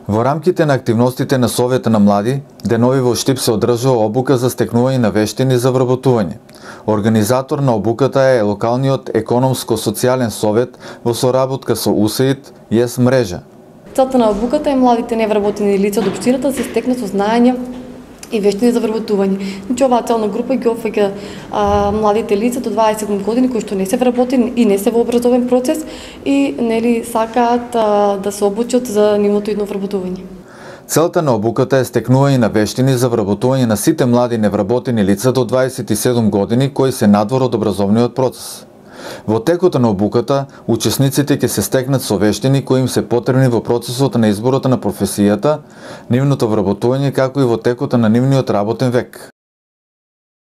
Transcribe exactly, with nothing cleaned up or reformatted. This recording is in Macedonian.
Во рамките на активностите на Совета на млади, денови во Штип се одржува обука за стекнување на вештини за вработување. Организатор на обуката е локалниот економско-социјален совет во соработка со У С А И Д и ЕС мрежа. Целта на обуката е младите невработени лица од општината да се стекнат со знаење и вештини за вработување. Значи оваа целна група ги опфаќа младите лица до дваесет години кои што не се вработени и не се во образовен процес и нели сакаат а, да се обучат за нивното идно вработување. Целта на обуката е стекнување на вештини за вработување на сите млади невработени лица до дваесет и седум години кои се надвор од образовниот процес. Во текот на обуката, учесниците ќе се стекнат со вештини кои им се потребни во процесот на изборот на професијата, нивното вработување, како и во текот на нивниот работен век.